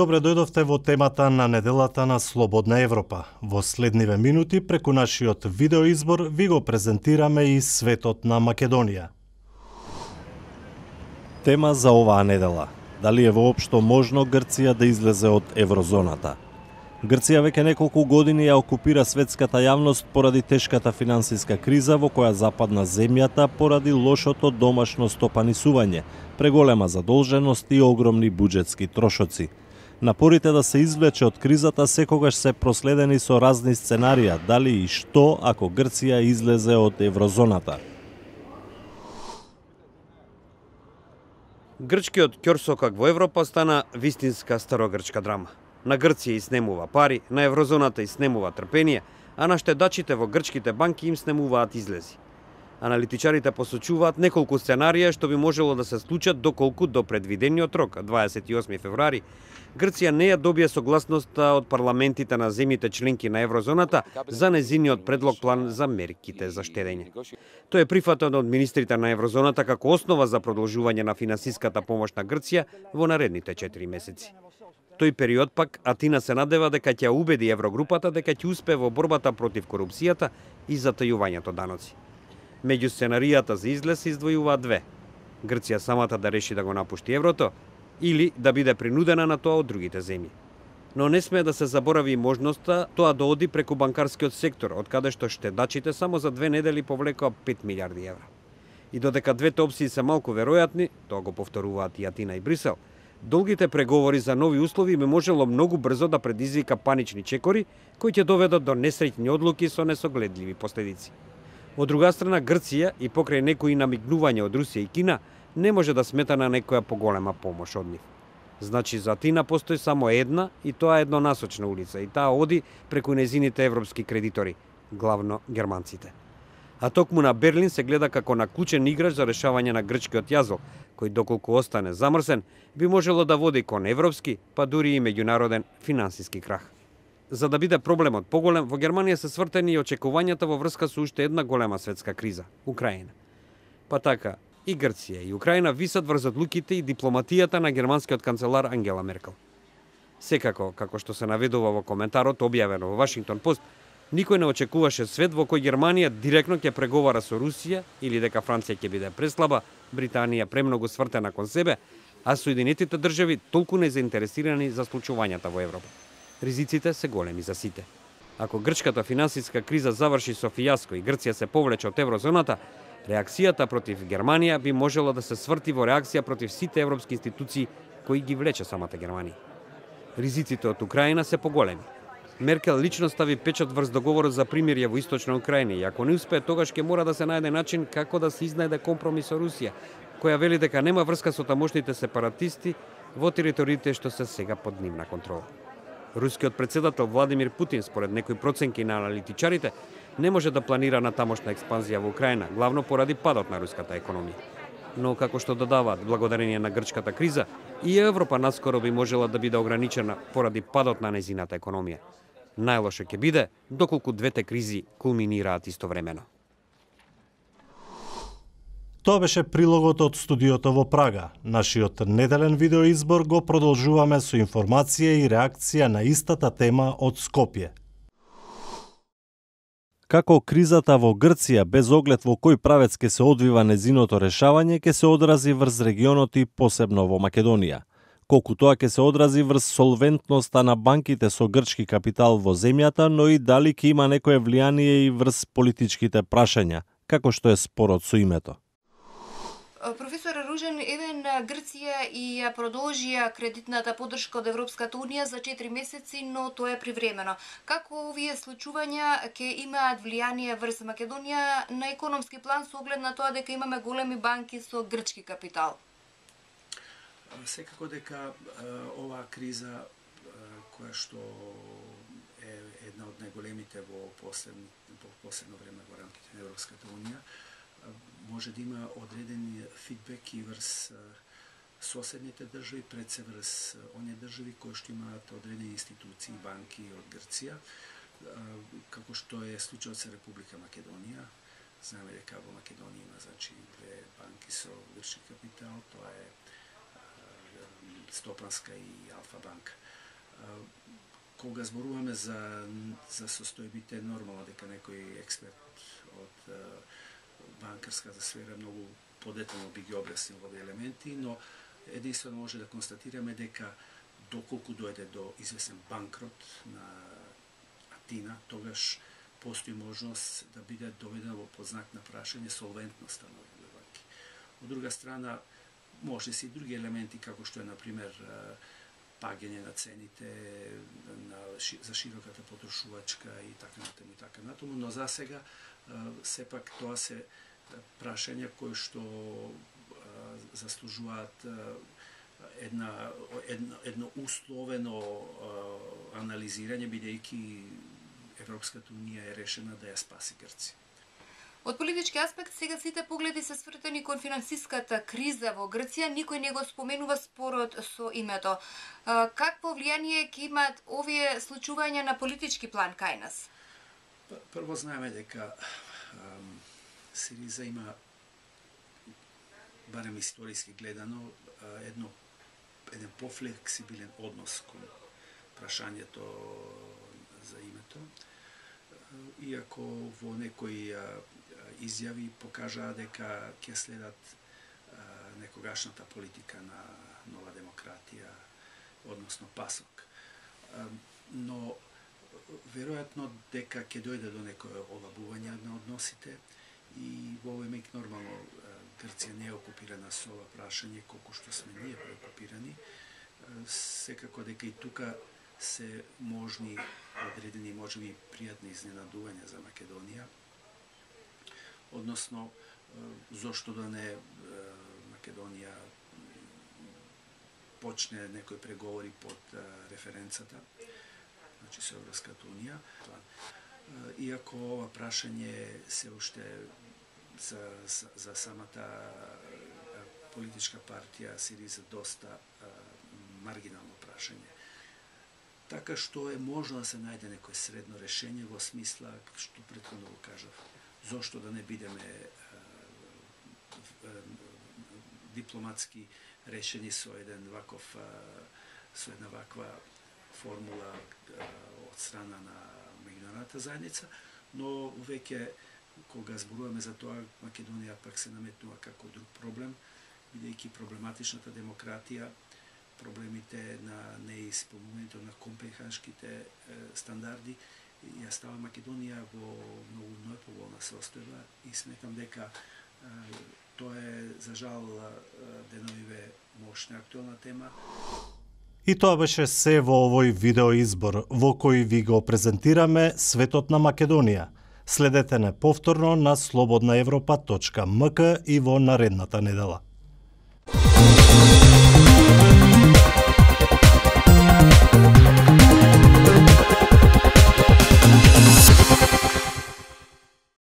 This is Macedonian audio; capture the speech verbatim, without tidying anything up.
Добре дојдовте во темата на неделата на Слободна Европа. Во следниве минути преку нашиот видеоизбор ви го презентираме и светот на Македонија. Тема за оваа недела. Дали е воопшто можно Грција да излезе од еврозоната? Грција веќе неколку години ја окупира светската јавност поради тешката финансиска криза во која западна земјата поради лошото домашно стопанисување, преголема задолженост и огромни буџетски трошоци. Напорите да се извлече од кризата секогаш се проследени со разни сценарија, дали и што ако Грција излезе од еврозоната. Грчкиот ќорсокак во Европа стана вистинска старогрчка драма. На Грција иснемува пари, на еврозоната иснемува трпение, а на штедачите во грчките банки им снемуваат излези. Аналитичарите посочуваат неколку сценарија што би можело да се случат доколку до предвидениот рок, дваесет и осми февруари, Грција не ја добие согласноста од парламентите на земјите членки на еврозоната за незиниот предлог план за мерките за штедење. Тој е прифатен од министрите на еврозоната како основа за продолжување на финансиската помош на Грција во наредните четири месеци. Тој период пак Атина се надева дека ќе убеди еврогрупата дека ќе успее во борбата против корупцијата и затајувањето даноци. Меѓу сценаријата за излез се издвојуваат две. Грција самата да реши да го напушти еврото или да биде принудена на тоа од другите земји. Но не смее да се заборави можноста тоа да оди преку банкарскиот сектор, од каде што штедачите само за две недели повлекоа пет милиарди евра. И додека двете опции се малку веројатни, тоа го повторуваат и Атина и Брисел, долгите преговори за нови услови би можело многу брзо да предизвика панични чекори кои ќе доведат до несреќни одлуки со несогледливи последици. Од друга страна, Грција и покрај некои намигнувања од Русија и Кина не може да смета на некоја поголема помош од нив. Значи, за Атина постои само една и тоа е еднонасочна улица и таа оди преку незините европски кредитори, главно германците. А токму на Берлин се гледа како на клучен играч за решавање на грчкиот јазол, кој доколку остане замрсен, би можело да води кон европски, па дури и меѓународен финансиски крах. За да биде проблемот поголем, во Германија се свртени и очекувањата во врска со уште една голема светска криза – Украина. Па така, и Грција и Украина висат врз одлуките и дипломатијата на германскиот канцелар Ангела Меркел. Секако, како што се наведува во коментарот објавено во Вашингтон Пост, никој не очекуваше свет во кој Германија директно ќе преговара со Русија или дека Франција ќе биде преслаба, Британија премногу свртена кон себе, а Соединетите држави толку незаинтересирани за случувањата во Европа. Ризиците се големи за сите. Ако грчката финансиска криза заврши со фијаско и Грција се повлече од еврозоната, реакцијата против Германија би можела да се сврти во реакција против сите европски институции кои ги влече самата Германија. Ризиците од Украина се поголеми. Меркел лично стави печат врз договорот за примирје во Источна Украина и ако не успее, тогаш ќе мора да се најде начин како да се изнајде компромис со Русија, која вели дека нема врска со тамошните сепаратисти во териториите што се сега под нивна контрола. Рускиот председател Владимир Путин, според некои проценки на аналитичарите, не може да планира на тамошна експанзија во Украина, главно поради падот на руската економија. Но, како што додаваат, благодарение на грчката криза, и Европа наскоро би можела да биде ограничена поради падот на незината економија. Најлошо ќе биде доколку двете кризи кулминираат истовремено. Тоа беше прилогот од студиото во Прага. Нашиот неделен видеоизбор го продолжуваме со информација и реакција на истата тема од Скопје. Како кризата во Грција, без оглед во кој правец ќе се одвива незиното решавање, ќе се одрази врз регионот и посебно во Македонија. Колку тоа ќе се одрази врз солвентноста на банките со грчки капитал во земјата, но и дали ќе има некое влијание и врз политичките прашања, како што е спорот со името. Професор Ружен, еден Грција и ја продолжија кредитната поддршка од Европската Унија за четири месеци, но тоа е привремено. Како овие случувања ќе имаат влијание врз Македонија на економски план со оглед на тоа дека имаме големи банки со грчки капитал? Секако дека оваа криза, која што е една од најголемите во последно, во последно време во рамките на Европската Унија, може да има одредени фидбек и врз соседните држави, пред се врз оние држави кои што имаат одредени институции, банки од Грција, како што е случајот со Република Македонија. Знаеме дека во Македонија има значи две банки со грчки капитал, тоа е Стопанска и Алфа банка. Кога зборуваме за, за состојбите, нормално дека некој експерт од банкарската сфера многу подетално би ги објаснил овие елементи, но единствено може да констатираме дека доколку дојде до известен банкрот на Атина, тогаш постои можност да биде доведено во под знак на прашање солвентноста на овие банки. Од друга страна, може се и други елементи, како што е, например, паѓање на цените на, за широката потрошувачка и така натаму и така натаму, но за сега сепак тоа се прашања кои што заслужуваат една едно, едно условено анализирање, бидејќи Европската унија е решена да ја спаси Грција. Од политички аспект, сега сите погледи се свртени кон финансиската криза во Грција, никој не го споменува спорот со името. Какво влијание ќе имаат овие случувања на политички план кај нас? Прво знаеме дека Сириза има, барем историски гледано, едно еден пофлексибилен однос кон прашањето за името, иако во некои изјави покажаа дека ќе следат некогашната политика на Нова демократија, односно ПАСОК. Но веројатно дека ќе дојде до некое олабување на односите и во овој миг нормално Грција не е окупирана со ова прашање колку што сме ние преокупирани. Секако дека и тука се можни одредени, можеби пријатни изненадувања за Македонија. Односно, зошто да не Македонија почне некои преговори под референцата, значи со Европската унија. Иако ова прашање се уште за, за, за самата политичка партија Сириза доста маргинално прашање. Така што е можно да се најде некој средно решение во смисла, што претходно го кажав, зошто да не бидеме дипломатски решени со еден ваков со една ваква формула од страна на меѓународната заедница, но веќе кога зборуваме за тоа, Македонија пак се наметнува како друг проблем, бидејќи проблематичната демократија, проблемите на неисполнувањето на компенхашките стандарди, ја става Македонија во многу неповолна состојба и сметам дека тоа е, за жал, деновиве мощна актуелна тема. И тоа беше се во овој видеоизбор, во кој ви го презентираме светот на Македонија. Следете не повторно на слободна европа точка м к и во наредната недела.